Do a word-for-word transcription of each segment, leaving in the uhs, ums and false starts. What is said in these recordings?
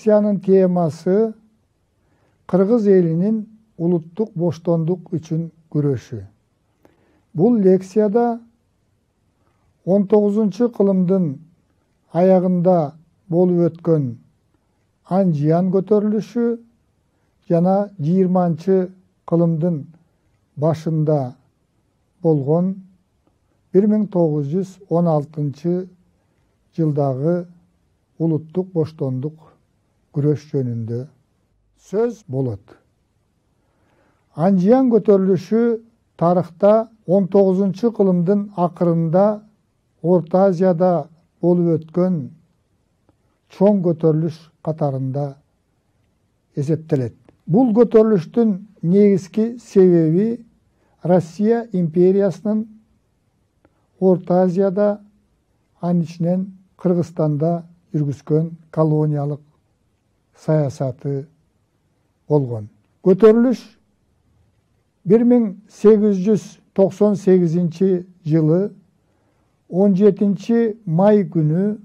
лекциянын темасы кыргыз элинин улуттук боштондук үчүн күрөшү. Бул лекцияда он тогузунчу кылымдын аягында болуп өткөн Анжиян көтөрүлүшү жана жыйырманчы кылымдын башында болгон бир миң тогуз жүз он алтынчы жылдагы улуттук боштондук күрөш жөнүндө сөз болот. Анжиян көтөрүлүшү тарыхта он тогузунчу кылымдын акырында Орто Азияда болуп өткөн чоң көтөрүлүш катарында эсептелет. Бул көтөрүлүштүн негизги себеби Россия империясынын Орто Азияда, анын ичинен Кыргызстанда жүргүзгөн колониялык саясаты болгон. Көтөрүлүш бир миң сегиз жүз токсон сегизинчи жылы он жетинчи май күнү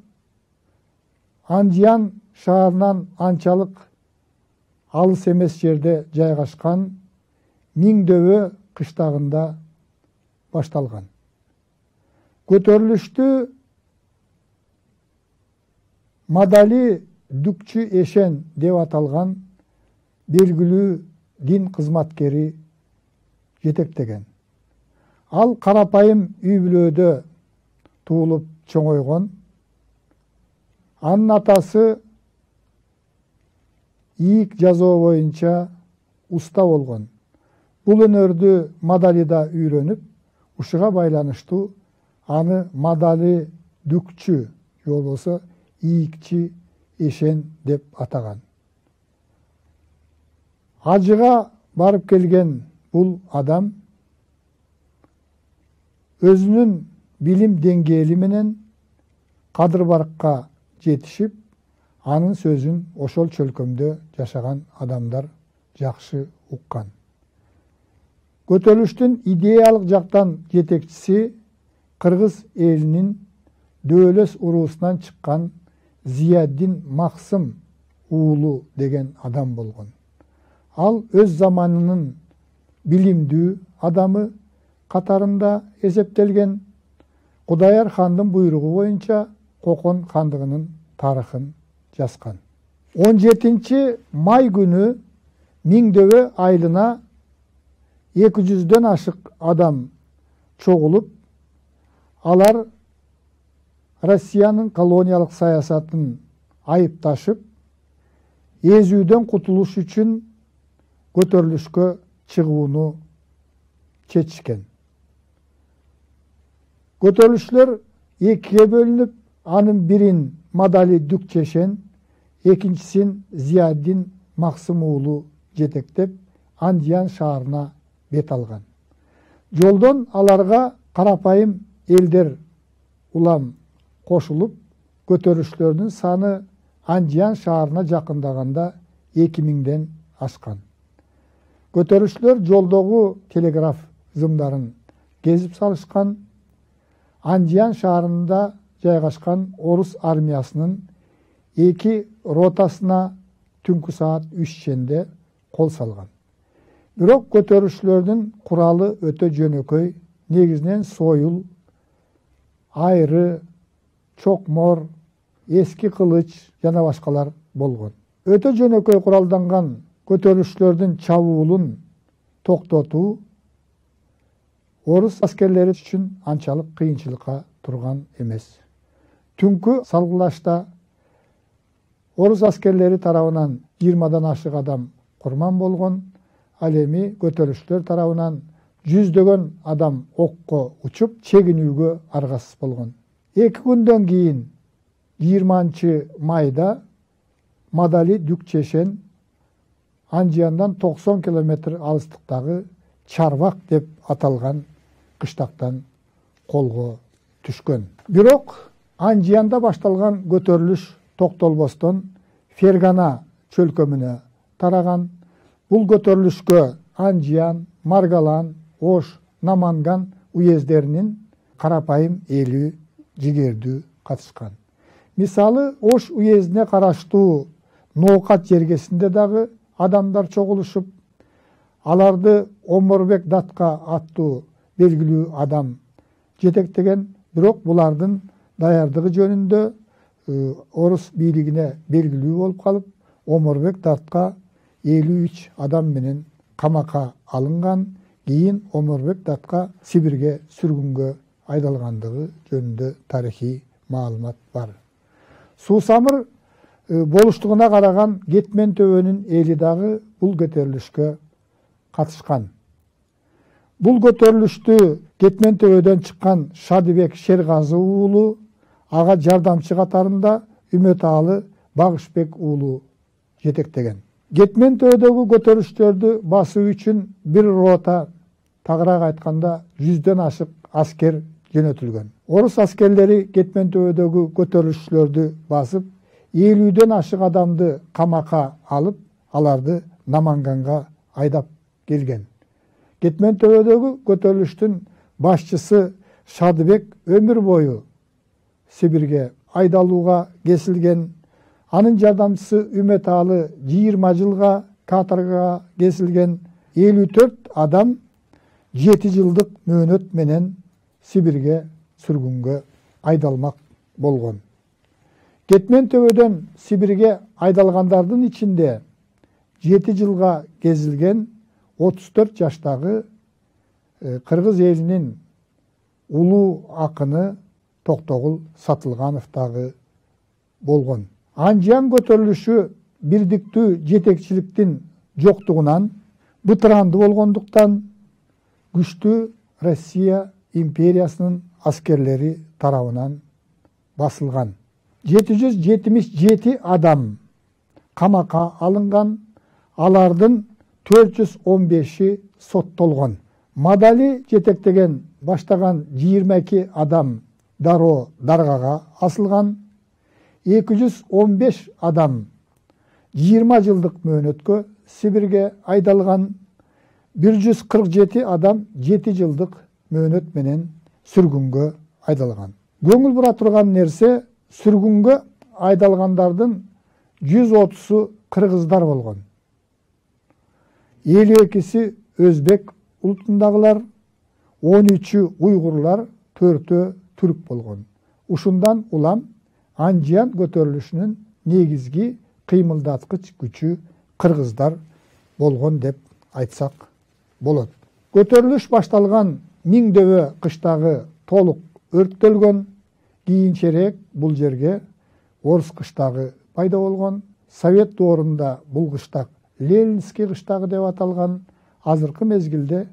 Анжиян шаарынан анчалык алыс эмес жерде жайгашкан Миңдөбө кыштагында башталган. Көтөрүлүштү Мадали Дүкчү Эшен деп аталган белгилүү дин кызматкери жетектеген. Ал карапайым үй бүлөдө туулуп чоңойгон. Анын атасы ийик жазуу боюнча уста болгон. Бул өнөрдү Мадалида үйрөнүп, ушуга байланыштуу аны Мадали Дүкчү же болбосо ийикчи Эшен деп атаган. Ажыга барып келген бул адам өзүнүн билим деңгээли менен Кадыр-Баркка жетишип, анын сөзүн ошол чөлкөмдө жашаган адамдар жакшы уккан. Көтөрүлүштүн идеялык жактан жетекчиси кыргыз элинин Дөөлөс уруусунан чыккан Зияддин Максым уулу деген адам болгон. Ал өз заманынын билимдүү адамы катарында эсептелген. Кудаяр хандын буйругу боюнча Кокон хандыгынын тарыхын жазган. он жетинчи май күнү Миңдөбө айылына эки жүздөн ашык адам чогулуп, алар Россиянын колониялык саясатын айыпташып, эзүүдөн кутулуш үчүн көтөрүлүшкө чыгууну чечишкен. Көтөрүлүшлөр экиге бөлүнүп, анын бирин Мадали Дүкчү Эшен, экинчисин Зияддин Максым уулу жетектеп, Анжиян шаарына бет алган. Жолдон аларга карапайым элдер улам кошулуп, көтөрүлүштөрдүн саны Анжиян шаарына жакындаганда эки миңден ашкан. Көтөрүлүштөр жолдогу телеграф зымдарын кезип салышкан. Анжиян шаарында жайгашкан орус армиясынын эки ротасына түнкү саат үч ченде кол салган. Бирок көтөрүлүштөрдүн куралы өтө жөнөкөй, негизинен сойул, айры, чокмор, эски кылыч жана башкалар болгон. Өтө жөнөкөй куралданган көтөрүлүштөрдүн чабуулун токтотуу орус аскерлери үчүн анчалык кыйынчылыкка турган эмес. Түнкү салгылашта орус аскерлери тарабынан жыйырмадан ашык адам курман болгон. Ал эми көтөрүлүштөр тарабынан жүздөгөн адам окко учуп, чегинүүгө аргасыз болгон. Эки күндөн кийин жыйырманчы майда Мадали Дүкчү Эшен Анжияндан токсон километр алыстыктагы Чарбак деп аталган кыштактан колго түшкөн. Бирок Анжиянда башталган көтөрүлүш токтолбостон Фергана чөлкөмүнө тараган. Бул көтөрүлүшкө Анжиян, Маргалан, Ош, Наманган уездеринин карапайым эли жигердүү катышкан. Мисалы, Ош уездине караштуу Ноокат жергесинде дагы адамдар чогулушуп, аларды Омурбек Датка аттуу белгилүү адам жетектеген. Бирок булардын даярдыгы жөнүндө орус бийлигине белгилүү болуп калып, Омурбек Датка элүү үч адам менен камакка алынган. Кийин Омурбек Датка Сибирге сүргүнгө айдалгандыгы жөнүндө тарыхый маалымат бар. Суусамыр болуштугуна караган Кетмен төбөнүн эли дагы бул көтөрүлүшкө катышкан. Бул көтөрүлүштү Кетмен төбөдөн чыккан Шадыбек Шергазы уулу, ага жардамчы катарында Үмөталы Багышбек уулу жетектеген. Кетмен төбөдөгү көтөрүлүштөрдү басуу үчүн бир рота, тагыраак айтканда жүздөн ашык аскер жөнөтүлгөн. Орус аскерлери Кетмен төбөдөгү көтөрүлүшчүлөрдү басып, элүүдөн ашык адамды камакка алып, аларды Наманганга айдап келген. Кетмен төбөдөгү көтөрүлүштүн башчысы Шадыбек өмүр бою Сибирге айдалууга кесилген. Анын жардамчысы Үмөталы жыйырма жылга каторгага кесилген. элүү төрт адам жети жылдык мөөнөт менен Сибирге сүргүнгө айдалмак болгон. Кетмен төбөдөн Сибирге айдалгандардын ичинде жети жылга кезилген отуз төрт жаштагы кыргыз элинин улуу акыны Токтогул Сатылганов дагы болгон. Анжан көтөрүлүшү бирдиктүү жетекчиликтин жоктугунан, бытыранды болгондуктан күчтүү Россия империясынын аскерлери тарабынан басылган. жети жүз жетимиш жети адам камакка алынган, алардын төрт жүз он беши соттолгон. Мадали жетектеген баштаган жыйырма эки адам дароо даргага асылган. эки жүз он беш адам жыйырма жылдык мөөнөткө Сибирге айдалган. бир жүз кырк жети адам жети жылдык мөөнөт менен сүргүнгө айдалган. Көңүл бура турган нерсе, сүргүнгө айдалгандардын жүз отузу кыргыздар болгон. элүү экиси өзбек улутундагылар, он үчү уйгурлар, төртөө түрк болгон. Ушундан улам Анжан көтөрүлүшүнүн негизги кыймылдаткыч күчү кыргыздар болгон деп айтсак болот. Көтөрүлүш башталган Миңдөбө кыштагы толук өрттөлгөн. Кийинчерээк бул жерге Орус кыштагы пайда болгон. Совет доорунда бул кыштак Ленинский кыштагы деп аталган. Азыркы мезгилде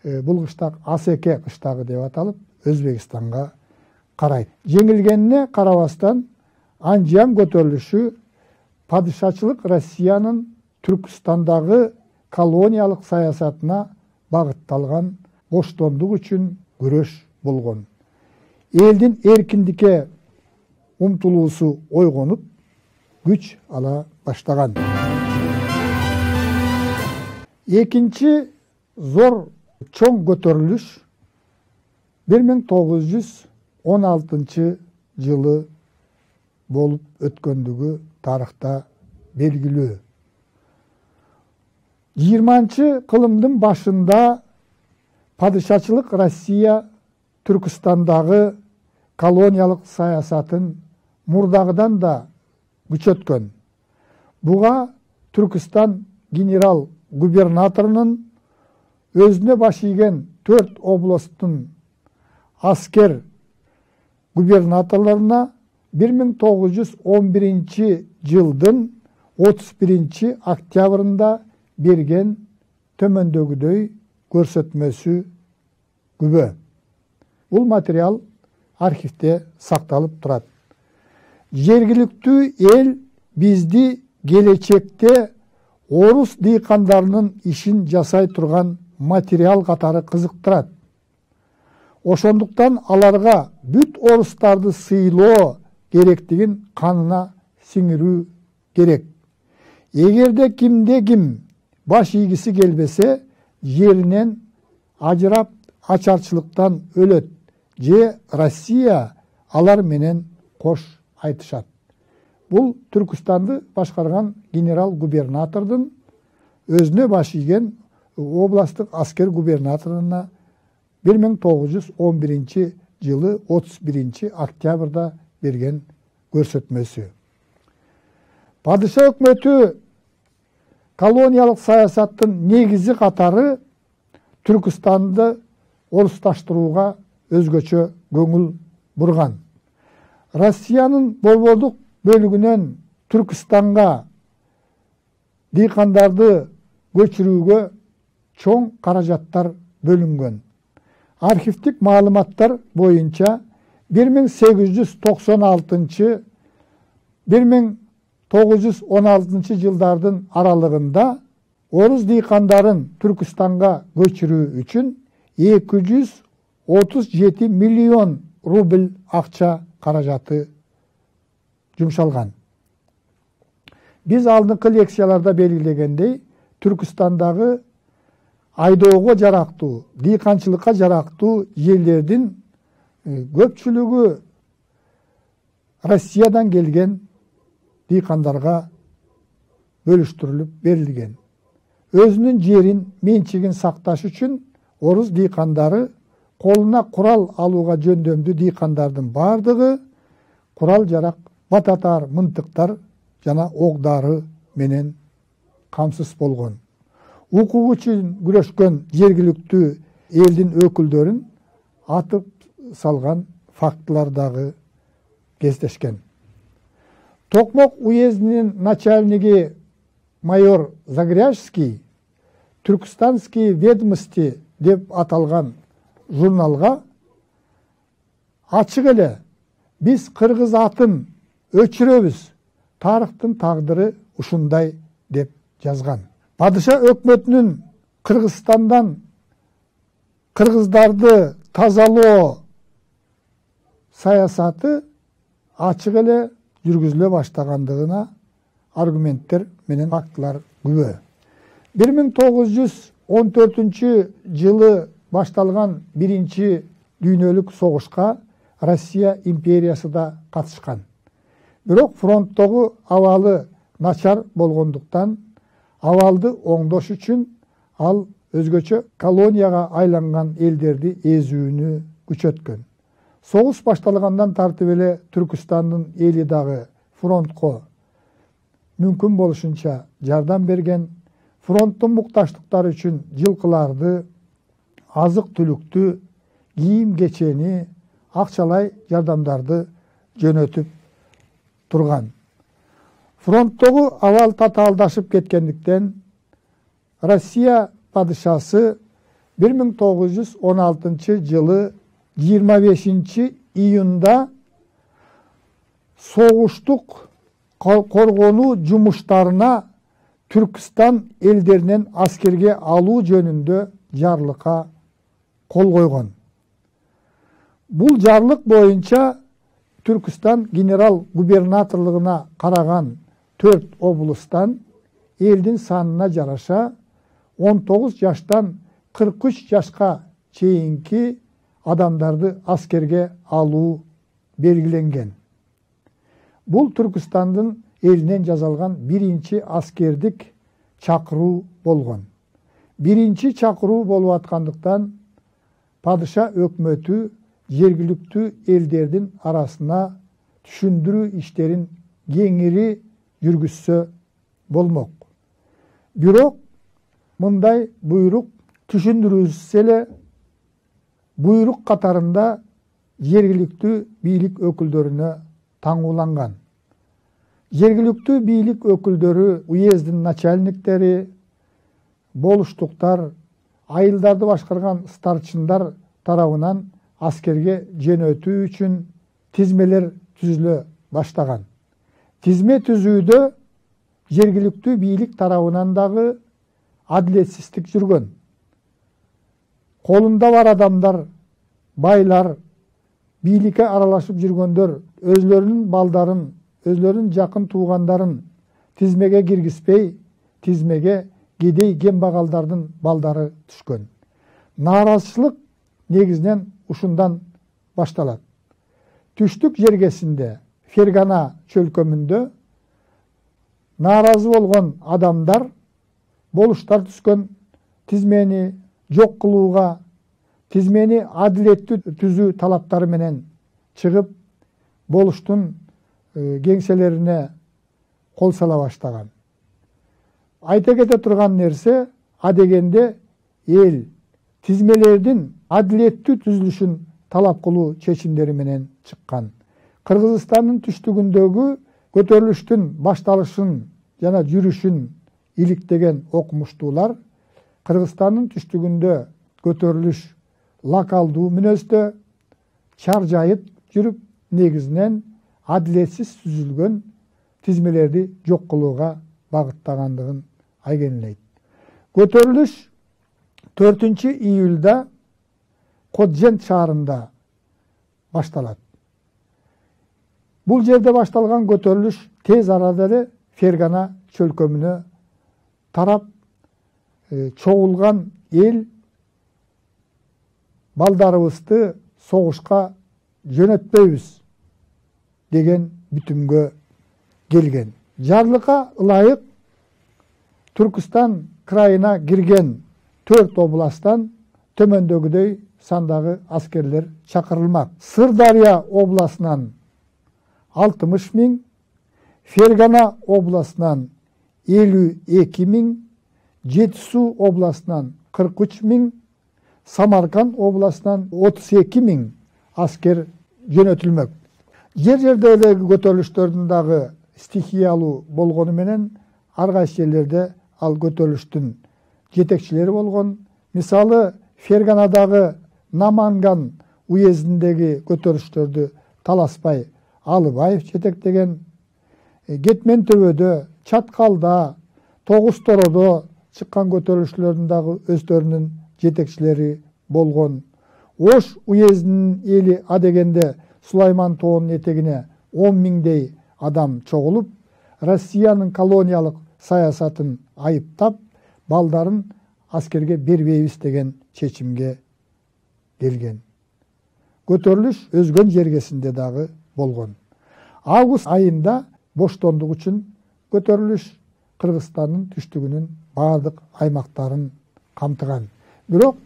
бул кыштак Асеке кыштагы деп аталып, Өзбекстанга карайт. Жеңилгенине карабастан, Анжан көтөрүлүшү падышачылык Россиянын Түркстандагы колониялык саясатына багытталган боштондук үчүн күрөш болгон. Элдин эркиндикке умтулуусу ойгонуп, күч ала баштаган. Экинчи зор чоң көтөрүлүш бир миң тогуз жүз он алтынчы жылы болуп өткөндүгү тарыхта белгилүү. жыйырманчы кылымдын башында падышачылык Россия Түркстандагы колониялык саясатын мурдагыдан да күчөткөн. Буга Түркстан генерал-губернаторунун өзүнө баш ийген төрт областтын аскер губернаторлоруна бир миң тогуз жүз он биринчи жылдын отуз биринчи октябрында берген төмөндөгүдөй көрсөтмөсү күбө. Бул материал архивде сакталып турат. Жергиликтүү эл бизди келечекте орус дыйкандарынын ишин жасай турган материал катары кызыктырат. Ошондуктан аларга бүт орустарды сыйлоо керектигин канына сиңирүү керек. Эгерде кимде ким баш ийгиси келбесе, жеринен ажырап ачарчылыктан өлөт же Россия алар менен кош айтышат. Бул Түркүстанды башкарган генерал-губернатордун өзүнө баш ийген областтык аскер губернаторуна бир миң тогуз жүз он биринчи жылы отуз биринчи октябрда берген көрсөтмөсү. Падыша өкмөтү колониялык саясаттын негизи катары Түркүстанды орусташтырууга өзгөчө көңүл бурган. Россиянын борбордук бөлүгүнөн Түркүстанга дыйкандарды көчүрүүгө чоң каражаттар бөлүнгөн. Архивдик маалыматтар боюнча бир миң сегиз жүз токсон алтынчы — бир миң тогуз жүз он алтынчы жылдардын аралыгында орус дыйкандарын Түркүстанга көчүрүү үчүн эки жүз отуз жети миллион рубль акча каражаты жумшалган. Биз алдыңкы лекцияларда белгилегендей, Түркүстандагы айдоого жарактуу, дыйканчылыкка жарактуу жерлердин көпчүлүгү Россиядан келген дыйкандарга бөлүштүрүлүп берилген. Өзүнүн жерин, менчигин сакташ үчүн орус дыйкандары колуна курал алууга жөндөмдүү дыйкандардын бардыгы курал жарак, бататар, мынтыктар жана ок-дары менен камсыз болгон. Укук үчүн күрөшкөн жергиликтүү элдин өкүлдөрүн атып салган фактылар дагы кездешкен. Токмок уездинин начальниги майор Загряжский Түркістанские ведомости деп аталган журналга ачык эле биз кыргыз атын өчүрөбүз, тарыхтын тагдыры ушундай деп жазган. Падыша өкмөтүнүн Кыргызстандан кыргыздарды тазалоо саясаты ачык эле жүргүзүлө баштагандыгына аргументтер менен фактылар күбө. бир миң тогуз жүз он төртүнчү жылы башталган биринчи дүйнөлүк согушка Россия империясы да катышкан. Бирок фронттогу абалы начар болгондуктан абалды оңдош үчүн ал өзгөчө колонияга айланган элдерди эзүүнү күчөткөн. Согуш башталгандан тартып эле Түркүстандын эли дагы фронтко мүмкүн болушунча жардам берген. Фронттун мукташтыктары үчүн жылкыларды, азык-түлүктү, кийим-кечени, акчалай жардамдарды жөнөтүп турган. Фронттогу абал татаалдашып кеткендиктен Россия падышасы бир миң тогуз жүз он алтынчы жылы жыйырма бешинчи июнда согуштук коргонуу жумуштарына Түркістан элдеринен аскерге алуу жөнүндө жарлыкка кол койгон. Бул жарлык боюнча Түркістан генерал-губернаторлугуна караган төрт облустан элдин санына жараша он тогуз жаштан кырк үч жашка чейинки адамдарды аскерге алуу белгиленген. Бул Түркістандын элинен жазалган биринчи аскердик чакыруу болгон. Биринчи чакыруу болуп аткандыктан падыша өкмөтү жергиликтүү элдердин арасына түшүндүрүү иштерин кеңири жүргүзсө болмок. Бирок мындай буйрук түшүндүрүлсө эле буйрук катарында жергиликтүү бийлик өкүлдөрүнө таңууланган. Жергиликтүү бийлик өкүлдөрү, уездин начальниктери, болуштуктар, айылдарды башкарган старчындар тарабынан аскерге жөнөтүү үчүн тизмелер түзүлө баштаган. Тизме түзүүдө жергиликтүү бийлик тарабынан дагы адилетсиздик жүргөн. Колунда бар адамдар, байлар, бийликке аралашып жүргөндөр өзлөрүнүн балдарын, өзлөрүнүн жакын туугандарын тизмеге киргизбей, тизмеге кедей кембагалдардын балдары түшкөн. Нааразычылык негизинен ушундан башталат. Түштүк жергесинде, Фергана чөлкөмүндө нааразы болгон адамдар болуштар түзгөн тизмени жок кылууга, тизмени адилеттүү түзүү талаптары менен чыгып, болуштун кеңселерине кол сала баштаган. Айта кете турган нерсе, адегенде эл тизмелердин адилеттүү түзүлүшүн талап кылуу чечимдери менен чыккан. Кыргызстандын түштүгүндөгү көтөрүлүштүн башталышын жана жүрүшүн иликтеген окумуштуулар Кыргызстандын түштүгүндө көтөрүлүш локалдуу мүнөздө чаржайып жүрүп, негизинен адилетсиз түзүлгөн тизмелерди жок кылууга багыттагандыгын айгинелейт. Көтөрүлүш төртүнчү июлда Коджент шаарында башталат. Бул жерде башталган көтөрүлүш тез арада эле Фергана чөлкөмүнө тарап, чогулган эл балдарыбызды согушка жөнөтпөйбүз деген бүтүмгө келген. Жарлыкка ылайык Түркүстан крайына кирген төрт областтан төмөндөгүдөй сандагы аскерлер чакырылмак. Сырдария областынан алтымыш миң, Фергана областынан элүү эки миң, Жети Суу областынан кырк үч миң, Самарканд областынан отуз эки миң аскер жөнөтүлмөк. Жер-жерде эле көтөрүлүштөрдүн дагы стихиялуу болгону менен ар кайсы жерлерде ал көтөрүлүштүн жетекчилери болгон. Мисалы, Ферганадагы Наманган уездиндеги көтөрүлүштөрдү Таласпай Алыбаев жетектеген. Кетмен төбөдө, Чаткалда, Тогуз Тородо чыккан көтөрүлүштөрдүн дагы өздөрүнүн жетекчилери болгон. Ош уездинин эли адегенде Сулайман тоонун этегине он миңдей адам чогулуп, Россиянын колониялык саясатын айыптап, балдарын аскерге бербейбиз деген чечимге келген. Көтөрүлүш өзгөн жергесинде дагы болгон. Август айында боштондук үчүн көтөрүлүш Кыргызстандын түштүгүнүн бардык аймактарын камтыган. Бирок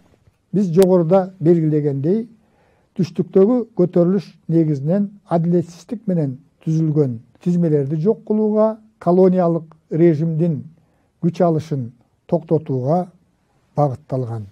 биз жогоруда белгилегендей, түштүктөгү көтөрүлүш негизинен адилетсиздик менен түзүлгөн тизмелерди жок кылууга, колониялык режимдин күч алышын токтотууга багытталган.